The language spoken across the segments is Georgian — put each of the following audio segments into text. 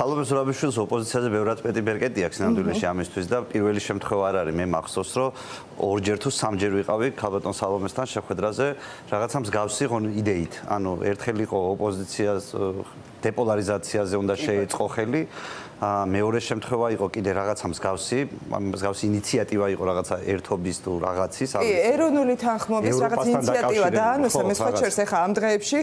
სალომე ზურაბიშვილს ოპოზიციაზე ბევრად მეტი ბერკეტი აქვს ნამდვილში ამისთვის და პირველი შემთხვევა არ არის მე მახსოვს რომ ორჯერ თუ სამჯერ ვიყავი ქალბატონ სალომესთან შეხვედრაზე რაღაცა მსგავსი იდეით ანუ ერთხელ იყო ოპოზიციას დეპოლარიზაციაზე უნდა შეეწყო ხელი მეორე შემთხვევა იყო კიდე რაღაცა მსგავსი ინიციატივა იყო რაღაცა ერთობის თუ რაღაცის ეროვნული თანხმობის რაღაც ინიციატივა და ანუსა მე სხვა ჩერს ახლა ამ დღეებში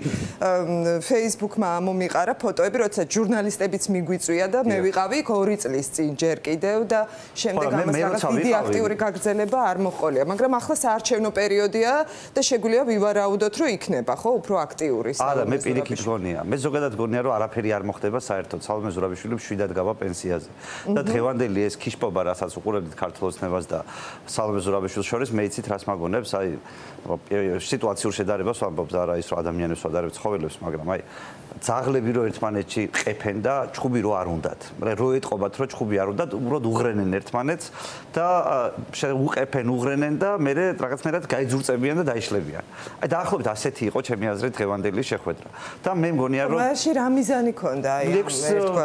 Facebook-მა მომიყარა ფოტოები როცა ჟურნალისტებიც მიგვიწვია და მე ვიყავი 2 წლის წინ ჯერ კიდევ და შემდეგ ამას რაღაც დიდი აქტიური გაგრძელება არ მოჰყოლია მაგრამ ახლა საარჩევნო პერიოდია და შეგვიძლია ვივარაუდოთ რომ იქნება ხო უფრო აქტიური არა მე პირიქით გონია მე ზოგადად გონია რომ არაფერი არ მოხდება საერთოდ სალომე ზურაბიშვილი მშვიდად გავა პენსიაზე და დღევანდელი ეს ქიშპობა რასაც უყურებთ ქართულ ოცნებას და სალომე ზურაბიშვილს შორის მე იცით რას მაგონებს აი სიტუაციურ შედარებას ვამბობ და არა ის რომ ადამიანებს ვადარებ ცხოველებს მაგრამ აი ძაღლები რო ერთმანეთში ყეფენ და ჩხუბი რო არ უნდათ რო ეტყობათ რომ ჩხუბი არ უნდათ უბრალოდ უღრენენ ერთმანეთს და უყეფენ უღრენენ და მე რაღაცნაირად გაიძურწებიან და დაიშლებიან აი დაახლოებით ასეთი იყო ჩემი აზრით დღევანდელი შეხვედრა და მე მგონია რომ მაშინ რა მიზანი ქონდა აი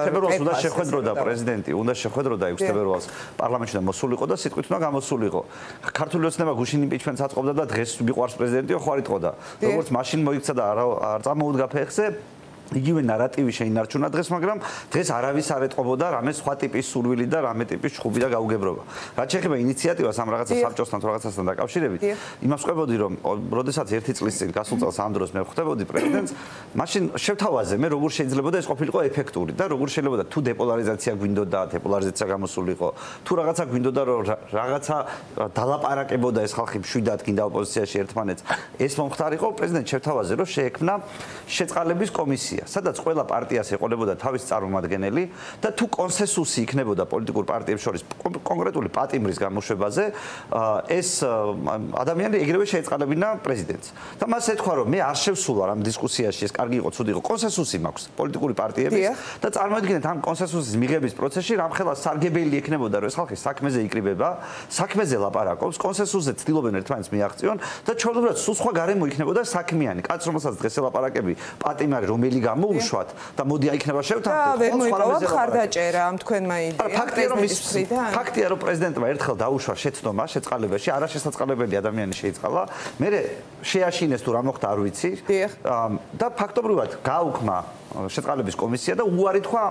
თებერვალს უნდა შეხვედროდა პრეზიდენტი უნდა შეხვედროდა 6 თებერვალს პარლამენტში და მოსულიყო და სიტყვით უნდა გამოსულიყო ქართული ოცნება გუშინ იმპიჩმენტს აწყობდა და დღეს მიყვარს პრეზიდენტიო ხო არ იტყოდა როგორც მაშინ მოიქცა და არ წამოუდგა ფეხზე იგივე ნარატივი შეინარჩუნა დღეს, მაგრამ დღეს არავის არ ეტყობოდა რამე სხვა ტიპის სურვილი და რამე ტიპის ჩხუბი და გაუგებრობა. რაც შეეხება ინიციატივას ამ რაღაცა საბჭოსთან თუ რაღაცასთან დაკავშირებით, იმას ყვებოდი რომ როდესაც 1 წლის წინ გასულ წელს ამ დროს მე ხვდებოდი პრეზიდენტს, მაშინ შევთავაზე მე როგორ შეიძლებოდა ეს ყოფილიყო ეფექტური და როგორ შეიძლება თუ დეპოლარიზაცია გვინდოდა, დეპოლარიზაცია გამოსულიყო, თუ რაღაცა გვინდოდა რომ რაღაცა დალაპარაკებოდა ეს ხალხი მშვიდად გინდა ოპოზიციაში ერთმანეთს, ეს მომხდარიყო პრეზიდენტ შევთავაზე რომ შეექმნა შეწყალების კომისია სადაც ყველა პარტიას ეყოლებოდა თავის წარმომადგენელი და თუ კონსენსუსი იქნებოდა პოლიტიკურ პარტიებს შორის კონკრეტული პატიმრის გამოშვებაზე ეს ადამიანები ეგრევე შეეწყალებინა პრეზიდენტს და მას ეთქვა რომ მე არ შევსულვარ ამ დისკუსიაში ეს კარგი იყო ცუდი იყო კონსენსუსი მაქვს პოლიტიკური პარტიების და წარმოიდგინეთ ამ კონსენსუსის მიღების პროცესში რამხელა სარგებელი ექნებოდა რომ ეს ხალხი საქმეზე იკრიბება საქმეზე ლაპარაკობს კონსენსუსზე ცდილობენ ერთმანეთს მიაღწიონ და ჩვეულებრივად სულ სხვა გარემო იქნებოდა საქმიანი კაც რომელსაც დღეს ელაპარაკები პატიმარი რომელი გამოუშვათ და მოდი აიქნება შევთანხმდეთ და ვერ მოიპოვა მხარდაჭერა ამ თქვენმა იდეამ ფაქტია რომ პრეზიდენტმა ერთხელ დაუშვა შეცდომა შეწყალებაში არაშესაწყალებელი ადამიანი შეიწყალა მე შეაშინეს თუ რა მოხდა არ ვიცი და ფაქტობრივად გააუქმა შეწყალების კომისია და უარი თქვა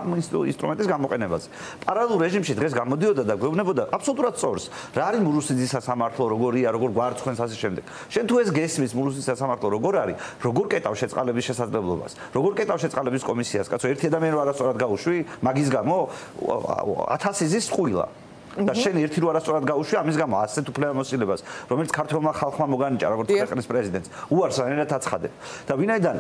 ინსტრუმენტის გამოყენებაზე. პარალელურ რეჟიმში დღეს გამოდიოდა და გვეუბნებოდა აბსოლუტურად სწორს. რა არის მურუსიძის სასამართლო, როგორია, როგორ გვარცხენს ასე შემდეგ. შენ თუ ეს გესმის მურუსიძის სასამართლო როგორ არის, როგორ კეტავ შეწყალების შესაძლებლობას, როგორ კეტავ შეწყალების კომისიას, კაცო, ერთი ადამიანი რო არასწორად გაუშვი, მაგის გამო 1000 იზის წყვილა. და შენ ერთი რო არასწორად გაუშვი, ამის გამო ასეთ უფლებამოსილებას, რომელიც ქართულმა ხალხმა მოგანიჭა, როგორც ქვეყნის პრეზიდენტს, უარს რანაირად აცხადებ. და ვინაიდან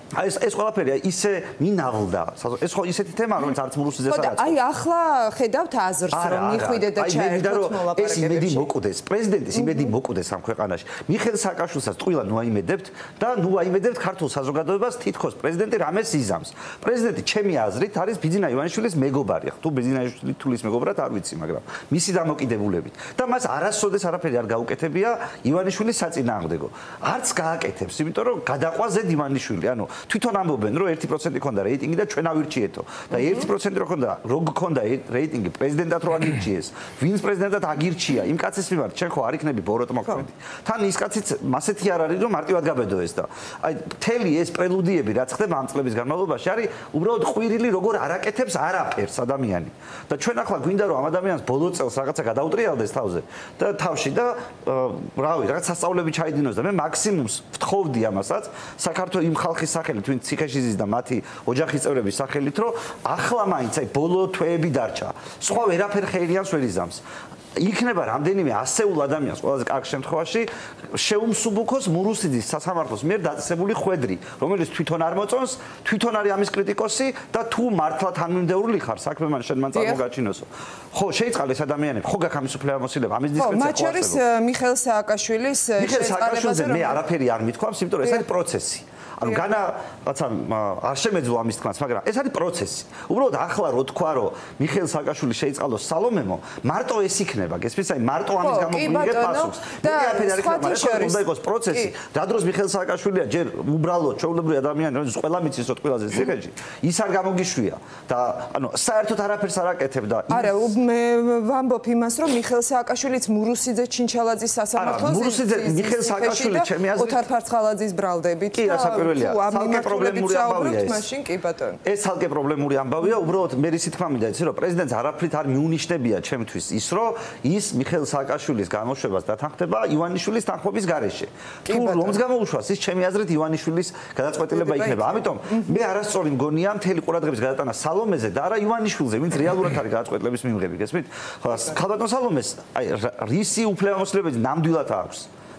ეს ყველაფერი ისე მინავლდა. ეს ხო ისეთი თემაა, რომელიც არც მურუსიძეს არ აწყობს. აი ახლა ხედავთ აზრს, რომ მიხვიდეთ და ჩაერთოთ მოლაპარაკებებში. ეს იმედი მოკვდეს, პრეზიდენტის იმედი მოკვდეს ამ ქვეყანაში. მიხეილ სააკაშვილსაც ტყუილად ნუ აიმედებთ და ნუ აიმედებთ ქართულ საზოგადოებას თითქოს პრეზიდენტი რამეს იზამს. პრეზიდენტი ჩემი აზრით არის ბიძინა ივანიშვილის მეგობარი. თუ ბიძინა ივანიშვილი თulis მეგობრად არ ვიცი, მაგრამ მისი დამოკიდებულებით. და მას არასოდეს არაფერი არ გაუკეთებია ივანიშვილის საწინააღმდეგო. არც გააკეთებს, იმიტომ რომ გადაყვა ზედ ივანიშვილი, ანუ თვითონ ამბობენ რომ 1% ქონდა რეიტინგი და ჩვენ ავირჩიეთო და 1% რო ქონდა რო გქონდა რეიტინგი პრეზიდენტად რო აგირჩიეს ვინც პრეზიდენტად აგირჩია იმ კაცის მიმართ ჩვენ ხო არ იქნები ბოროტ მოქმედი თან ის კაციც მასეთი არ არის რომ მარტივად გაბედო ეს და აი მთელი ეს პრელუდიები რაც ხდება ამ წლების განმავლობაში არის უბრალოდ ყვირილი როგორ არაკეთებს არაფერს ადამიანი და ჩვენ ახლა გვინდა რომ ამ ადამიანს ბოლო წელს რაღაცა გადაუტრიალდეს თავზე და თავში და რავი რაღაც სასწაულები ჩაიდინოს და მე მაქსიმუმს ვთხოვდი ამასაც საქართველოს იმ ხალხის სახელით ვინც ციხეში ზის და მათი ოჯახის წევრების სახელით რომ ახლა მაინც აი ბოლო თვეები დარჩა სხვა ვერაფერ ხეირიანს ვერ იზამს იქნება რამდენიმე ასეულ ადამიანს ყველაზე კარგ შემთხვევაში შეუმსუბუქოს მურუსიძის სასამართლოს მიერ დაწესებული ხვედრი რომელიც თვითონ არ მოწონს თვითონ არის ამის კრიტიკოსი და თუ მართლა თანმიმდევრული ხარ საქმე მან შენ მან წარმოგაჩინოსო ხო შეიწყალ ეს ადამიანები ხო გაქვს ამის უფლებამოსილება ამის დისკრეცია ხო მათ შორის მიხეილ სააკაშვილის შეწყალებაზე მე არაფერი არ მithქვამს იმიტომ რომ ეს არის პროცესი ანუ განა რაცა არ შემეძლო ამის თქმაც, მაგრამ ეს არის პროცესი. უბრალოდ ახლა რო თქვა, რომ მიხეილ სააკაშვილი შეიწყალოს სალომემო, მარტო ეს იქნება, გესმის, აი მარტო ამის გამო მიიღეთ პასუხს. და უნდა იყოს პროცესი. რა დროს მიხეილ სააკაშვილია ჯერ უბრალოდ ჩვეულებრივი ადამიანი, რომელიც ყველა მიცის რომ ყველაზე ციხეში, ის არ გამოგიშვია და ანუ საერთოდ არაფერს არ აკეთებდა. არა, მე ვამბობ იმას, რომ მიხეილ სააკაშვილიც მურუსიძე ჩინჩალაძის სასამართლოზე მურუსიძე მიხეილ სააკაშვილი ჩემი აზრით ოთარ ფარცხალაძის ბრალდებით კი რასაკვირველია ცალკე პრობლემური ამბავია ეს მაშინ კი ბატონო ეს ცალკე პრობლემური ამბავია უბრალოდ მე რისი თქმა მინდა იცი რომ პრეზიდენტს არაფრით არ მიუნიშნებია ჩემთვის ის რომ ის მიხეილ სააკაშვილის გამოშვებას დათანხმდება ივანიშვილის თანხმობის გარეშე თუ რომს გამოუშვას ის ჩემი აზრით ივანიშვილის გადაწყვეტილება იქნება ამიტომ მე არასწორი მგონია მთელი ყურადღების გადატანა სალომეზე და არა ივანიშვილზე ვინც რეალურად არის გადაწყვეტილების მიმღები გესმით ხალბატონ სალომეს აი რისი უფლებამოსილებელი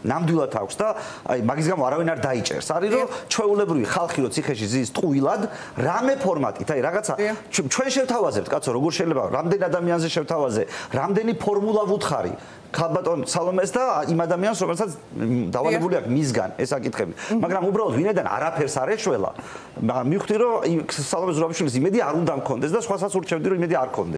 ნამდვილად აქვს და აი მაგის გამო არავინ არ დაიჭერს არის რომ ჩვეულებრივი ხალხი რო ციხეში ზის ტყუილად რამე ფორმატით აი რაღაცა ჩვენ შევთავაზებთ კაცო როგორ შეიძლება რამდენ ადამიანზე შევთავაზე რამდენი ფორმულა ვუთხარი ხალბატონ სალომეს და იმ ადამიანს რომელსაც დავალებული აქვს მისგან ეს აკითხები მაგრამ უბრალოდ ვინედან არაფერს არ ეშველა მაგრამ მივხვდი რომ სალომეს ზურაბიშვილის იმედი არ უნდა მქონდეს და სხვასაც ურჩევდი რომ იმედი არ ქონდეს